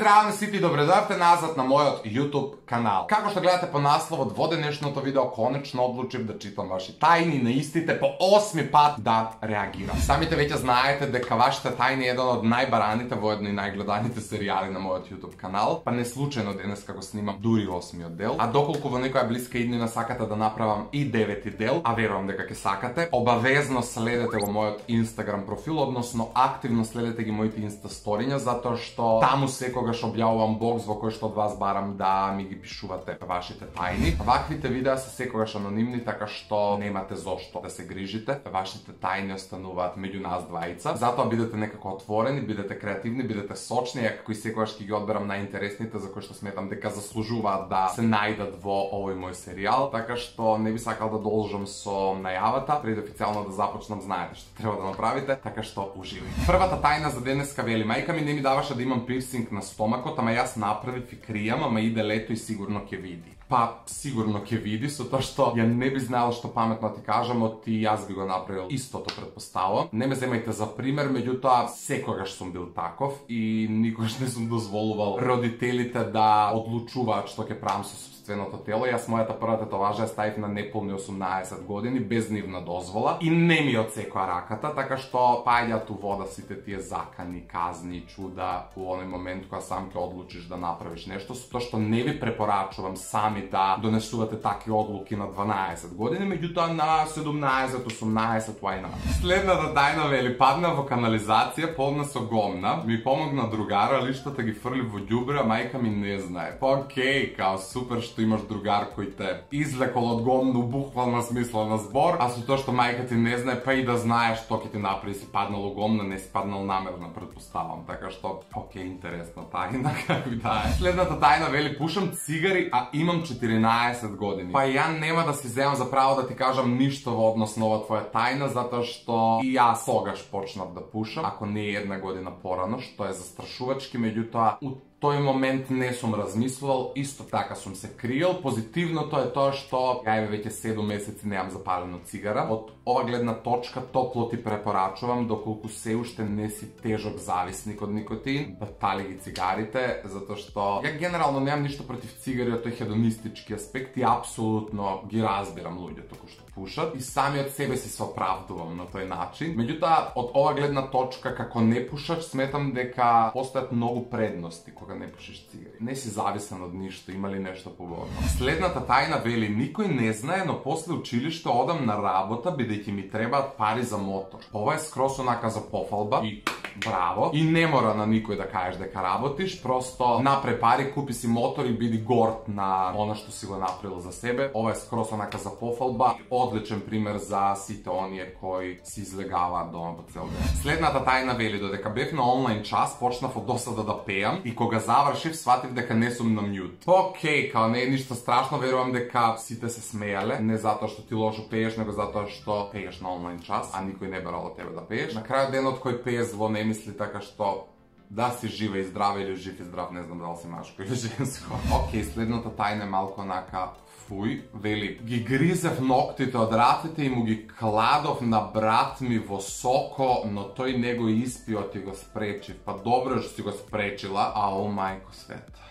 здраво на сите и добре дојавте назад на мојот YouTube канал. Како што гледате по насловот во денешното видео, конечно одлучив да читам ваши тајни, на истите по 8 пат да реагирам. Самите веќе знаете дека вашите тајни е еден од најбараните во едно и најгледаните серијали на мојот YouTube канал, па не случајно денес како снимам дури 8-миот дел, а доколку во некоја блиска иднина сакате да направам и 9-ти дел, а верувам дека ќе сакате, обавезно следете во мојот Instagram профил, односно активно следете ги моите инста сториња, затоа што таму секогаш објавувам бокс во кој што од вас барам да ми ги пишувате вашите тајни. Ваквите видеа се секогаш анонимни, така што немате зошто да се грижите. Вашите тајни остануваат меѓу нас двајца. Затоа бидете некако отворени, бидете креативни, бидете сочни, ја како и секогаш ќе ги одберам најинтересните за кои што сметам дека заслужуваат да се најдат во овој мој серијал. Така што не би сакал да должам со најавата, пред официјално да започнам, знаете што треба да направите, така што уживајте. Првата тајна за денеска вели: мајка ми не ми даваше да имам пирсинг на стомакот, ама јас направив и кријам, ама иде лето и сигурно ќе види. Па, сигурно ќе види, со тоа што ја не би знаел што паметно ти кажам, од и јас би го направил истото, предпоставам. Не ме земајте за пример, меѓутоа секогаш сум бил таков и никогаш не сум дозволувал родителите да одлучуваат што ќе правам со собственото тело. Јас мојата прва татуажа ја ставив на неполни 18 години без нивна дозвола и не ми отсекоа раката, така што паѓаат у вода сите тие закани, казни, чуда во оној момент кога сам ќе одлучиш да направиш нешто, со тоа што не ви препорачувам сами да донесувате такви одлуки на 12 години, меѓутоа на 17, 18, why not? Следната тајна вели: падна во канализација полна со гомна, ми помогна другара, лиштата ги фрли во ѓубре, а мајка ми не знае. Па окей, као супер што имаш другар кој те извлекол од гомну буквална смисла на збор, а со тоа што мајка ти не знае, па и да знаеш што ќе ти направи, си паднал у гомна, не си паднал намерно, предпоставам. Така што, окей, интересна тајна, како да е. Следната тајна вели: пушам цигари, а имам 14 години. Па ја нема да си земам за право да ти кажам ништо во однос на ова твоја тајна, затоа што и јас тогаш почнав да пушам, ако не е 1 година порано, што е застрашувачки, меѓутоа у тој момент не сум размислувал, исто така сум се криел. Позитивното е тоа што ја веќе 7 месеци немам запалено цигара. Од ова гледна точка топло ти препорачувам, доколку се уште не си тежок зависник од никотин, батали ги цигарите, затоа што ја генерално немам ништо против цигари од тој хедонистички аспект и апсолутно ги разбирам луѓето кои што пушат и сами од себе си се оправдувам на тој начин. Меѓутоа, од ова гледна точка како непушач сметам дека постојат многу предности кога не пушиш цигари. Не си зависен од ништо, има ли нешто пободно. Следната тајна вели: никој не знае, но после училиште одам на работа бидејќи ми требаат пари за мотор. Ова е скрос онака за пофалба и браво. И не мора на никој да кажеш дека работиш, просто напре пари, купи си мотор и биди горд на она што си го направил за себе. Ова е скрос онака за пофалба. Одличен пример за сите оние кои си излегаваат дома по цел ден. Следната тајна вели: додека бев на онлайн час, почнав од досада да пеам и кога завршив, сватив дека не сум на мјут. Окей, као не е ништо страшно, верувам дека сите се смејале, не затоа што ти лошо пееш, него затоа што пееш на онлайн час, а никој не барал од тебе да пееш. На крајот денот кој пее зло не мисли, така што да си жива и здрава или жив и здрав, не знам дали си машко или женско. Окей, следната тајна е малку онака фуј, вели: ги гризев ноктите од ратите и му ги кладов на брат ми во соко, но тој не го испио и го спречив. Па добро што си го спречила, а о мајко света.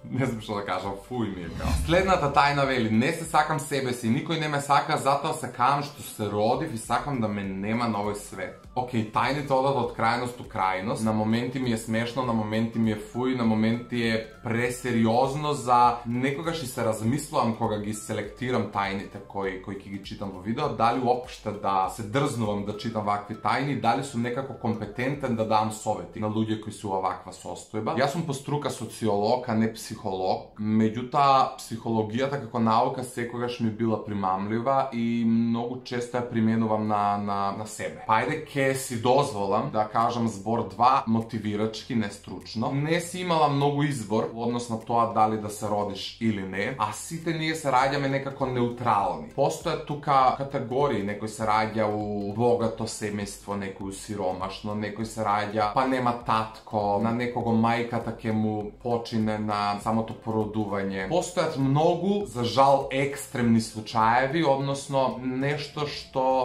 Не знам што да кажам, фуј ми е као. Следната тајна вели: не се сакам себе си, никој не ме сака, затоа се каам што се родив и сакам да ме нема на овој свет. Окей, тајните одат од крајност у крајност. На моменти ми е смешно, на моменти ми е фуј, на моменти е пресериозно за некогаш и се размислувам кога ги селектирам тајните кои ќе ги читам во видео, дали уопште да се дрзнувам да читам вакви тајни, дали сум некако компетентен да дам совети на луѓе кои се во ваква состојба. Јас сум по струка социолог, а не психолог, меѓутоа психологијата како наука секогаш ми била примамлива и многу често ја применувам на себе. Пајде ќе си дозволам да кажам збор 2 мотивирачки, не стручно. Не си имала многу избор во однос на тоа дали да се родиш или не, а сите ние се раѓаме некако неутрални. Постојат тука категории, некој се раѓа у богато семејство, некој у сиромашно, некој се раѓа па нема татко, на некого мајката ќе му почине на самото породување. Постојат многу, за жал, екстремни случаеви, односно нешто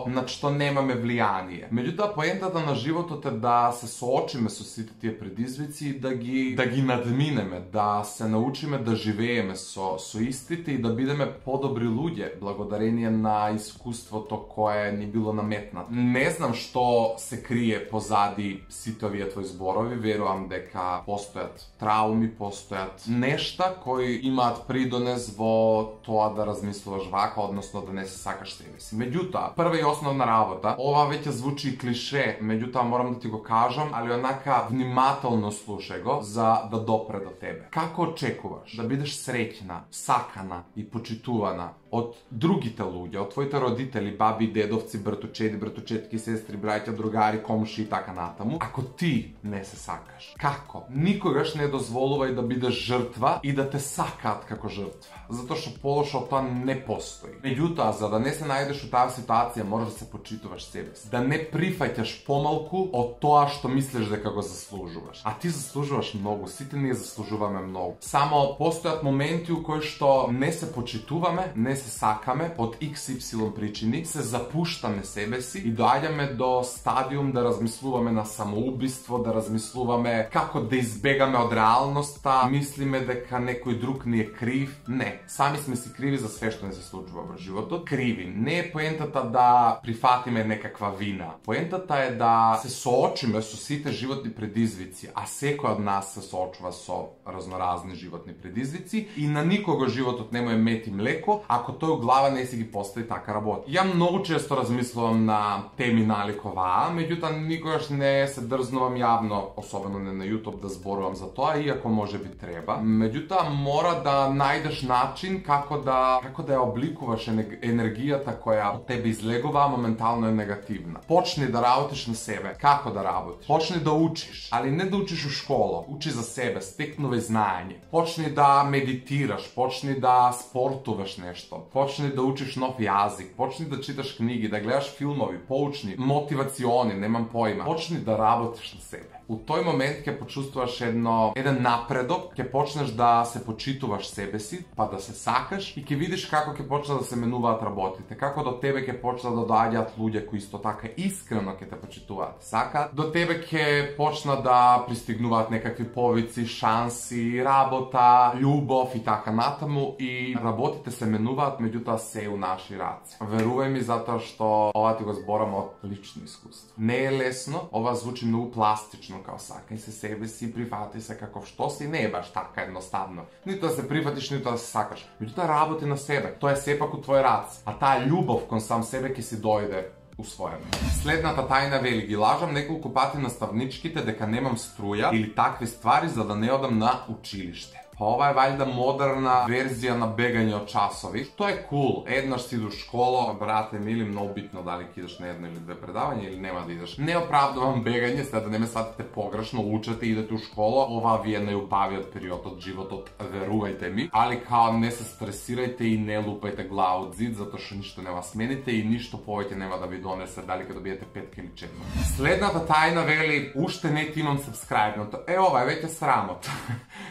над што немаме влијание. Меѓутоа, поентата на животот е да се соочиме со сите тие предизвици и да ги надминеме, да се научиме да живееме со истите и да бидеме подобри луѓе, благодарение на искуството кое ни било наметнато. Не знам што се крие позади сите овие твои зборови, верувам дека постојат трауми, постојат нешта кои имаат придонес во тоа да размислуваш вака, односно да не се сакаш себе си. Меѓутоа, прва и основна работа, ова веќе звучи клише, меѓутоа морам да ти го кажам, али онака внимателно слушај го за да допре до тебе. Како очекуваш да бидеш среќна, сакана и почитувана од другите луѓе, од твоите родители, баби, дедовци, братучеди, братучетки, сестри, браќа, другари, комши и така натаму, ако ти не се сакаш? Како? Никогаш не дозволувај да бидеш жртва и да те сакаат како жртва, затоа што полошо од тоа не постои. Меѓутоа, за да не се најдеш у таа ситуација, мораш да се почитуваш себе си, да не прифаќаш помалку од тоа што мислиш дека го заслужуваш. А ти заслужуваш многу, сите ние заслужуваме многу. Само постојат моменти у кои што не се почитуваме, не се сакаме од XY причини, се запуштаме себе си и доаѓаме до стадиум да размислуваме на самоубиство, да размислуваме како да избегаме од реалноста, мислиме дека некој друг ни е крив. Не, сами сме си криви за све што не се случува во животот. Криви. Не е поентата да прифатиме некаква вина. Поентата е да се соочиме со сите животни предизвици, а секој од нас се соочува со разноразни животни предизвици и на никого животот не му е мет и млеко, ако тој у глава не си ги постави така работа. Ја многу често размислувам на теми налик оваа, меѓутоа никогаш не се дрзнувам јавно, особено не на YouTube, да зборувам за тоа, иако може би треба. Меѓутоа мора да најдеш начин како да ја обликуваш енергијата која од тебе излегува, а моментално е негативна. Почни да работиш на себе. Како да работиш? Почни да учиш, али не да учиш у школа, учи за себе, стекнувај знаење. Почни да медитираш, почни да спортуваш нешто. Почни да учиш нов јазик, почни да читаш книги, да гледаш филмови, поучни, мотивациони, немам поима. Почни да работиш на себе. У тој момент ќе почувствуваш еден напредок, ќе почнеш да се почитуваш себе си, па да се сакаш и ќе видиш како ќе почнат да се менуваат работите, како до тебе ќе почнат да доаѓаат луѓе кои исто така искрено ќе те почитуваат, сакаат. До тебе ќе почнат да пристигнуваат некакви повици, шанси, работа, љубов и така натаму и работите се менуваат, меѓутоа се у наши раце. Верувај ми, затоа што ова ти го зборам од лично искуство. Не е лесно, ова звучи многу пластично, као сакај се себе си, прифати се каков што си, не е баш така едноставно. Ниту да се прифатиш, ниту да се сакаш. Меѓутоа работи на себе. Тоа е сепак у твој рац. А таа љубов кон сам себе ќе си дојде усвоено. Следната тајна вели: ги лажам неколку пати наставничките дека немам струја или такви ствари за да не одам на училиште. Ова е вајда модерна верзија на бегање од часови. Тоа е кул. Еднаш си до школа, брате мили, многу битно дали ќе идеш на едно или две предавања или нема да идеш. Не оправдувам бегање, сега да не ме сватите погрешно, учете, идете у школа, ова ви е најубавиот период од животот, верувајте ми. Али као не се стресирајте и не лупајте глава од зид, затоа што ништо нема смените и ништо повеќе нема да ви донесе дали ќе добиете 5 или 4. Следната тајна вели: уште не ти имам сабскрајбнато. Ова е веќе срамот.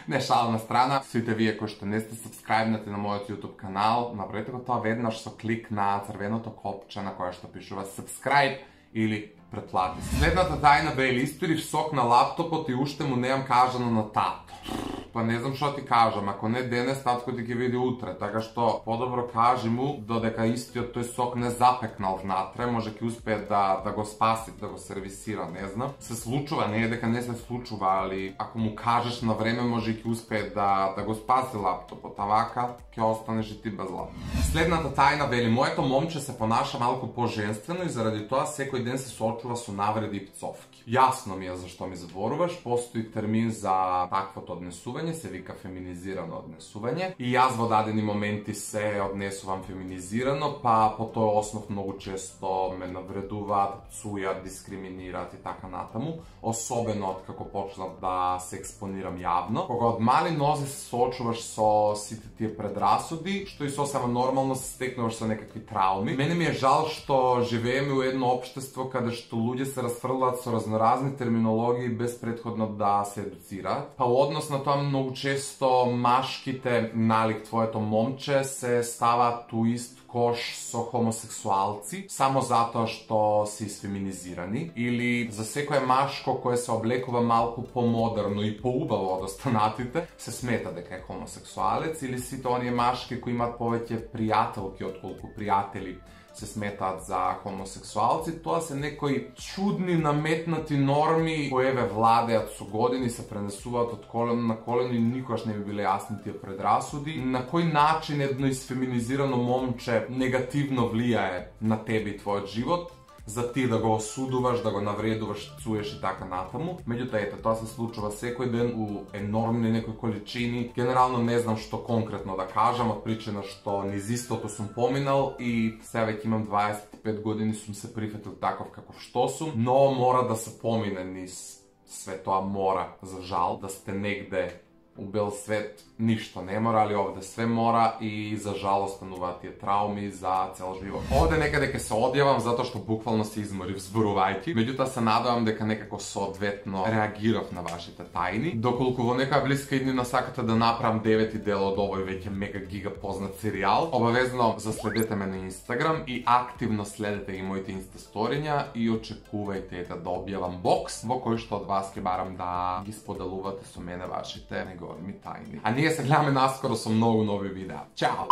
Не, шала на страна, сите вие кои што не сте сабскрајбнати на мојот YouTube канал, направете го тоа веднаш со клик на црвеното копче на кое што пишува subscribe или претплати. Следната тајна вели: испирив сок на лаптопот и уште му неам кажано на тато. Па не знам што ти кажам, ако не денес, татко ти ќе види утре, така што подобро кажи му додека истиот тој сок не запекнал внатре, може ќе успее да го спаси, да го сервисира, не знам. Се случува, не е дека не се случува, али ако му кажеш на време, може ќе успее да го спаси лаптопот, а вака ќе останеш и ти без лаптоп. Следната тајна вели: моето момче се понаша малку по-женствено и заради тоа секој ден се соочува со навреди и пцовки. Јасно ми е зашто ми зборуваш, постои термин за таквото однесување, се вика феминизирано однесување. И јас во дадени моменти се однесувам феминизирано, па по тој основ многу често ме навредуваат обидуваат, пцујат, дискриминираат и така натаму, особено од како почнав да се експонирам јавно. Кога од мали нозе се соочуваш со сите тие предрасуди, што и сосема нормално се стекнуваш со некакви трауми. Мене ми е жал што живееме у едно општество каде што луѓе се расфрлаат со разноразни терминологии без претходно да се едуцираат. Па однос на тоа многу често машките налик твоето момче се ставаат у ист кош со хомосексуалци само затоа што се исфеминизирани, или за секое машко кое се облекува малку помодерно и поубаво од останатите се смета дека е хомосексуалец, или сите оние машки кои имаат повеќе пријателки отколку пријатели се сметаат за хомосексуалци. Тоа се некои чудни наметнати норми кои еве владеат со години, се пренесуваат од колено на колено и никогаш не би биле јасни тие предрасуди. На кој начин едно исфеминизирано момче негативно влијае на тебе и твојот живот, за ти да го осудуваш, да го навредуваш, цуеш и така натаму. Меѓутоа, ете, тоа се случува секој ден у енормни некои количини. Генерално не знам што конкретно да кажам, од причина што низ истото сум поминал и сега веќе имам 25 години, сум се прифатил таков каков што сум, но мора да се помине низ све тоа, мора, за жал, да сте негде у бел свет, ништо не мора, али овде све мора и за жал остануваат тие трауми за цел живот. Овде некаде ќе се одјавам затоа што буквално се изморив зборувајќи, меѓутоа се надевам дека некако соодветно реагирав на вашите тајни. Доколку во некоја блиска иднина сакате да направам 9 дел од овој веќе мега гига познат серијал, обавезно заследете ме на Инстаграм и активно следете и моите инстасториња и очекувајте да објавам бокс во кој што од вас ќе барам да ги споделувате со мене вашите големи тајни. А ние се гледаме наскоро со многу нови видеа. Чао!